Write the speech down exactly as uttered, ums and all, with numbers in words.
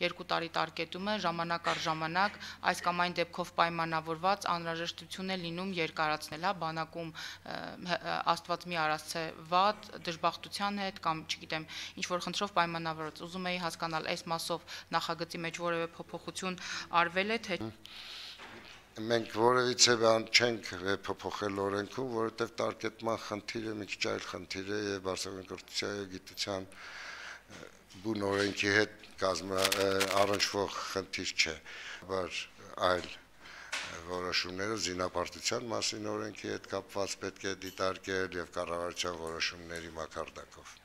Երկու տարի տարկետում է, ժամանակ առ ժամանակ այս կամ այն դեպքով պայմանավորված անհրաժեշտություն է լինում երկարացնել, հա, բանակում Աստված մի արածե վատ, դժբախտության հետ կամ, չգիտեմ, ինչ որ խնդրով պայմանավորված։ Ուզում էի հասկանալ, այս մասով նախագծի մեջ որևէ փոփոխություն արվել է, թե Մենք որևիցե բան չենք փոփոխել օրենքում, որովհետև տարկետման խնդիրը մի քիչ այլ խնդիր է եւ բարձրագույն կրթության եւ գիտության բուն օրենքի հետ կազմա առնչվող խնդիր չէ, բայց այլ որոշումները զինապարտության մասին օրենքի հետ կապված պետք է դիտարկել եւ կառավարության որոշումների մակարդակով։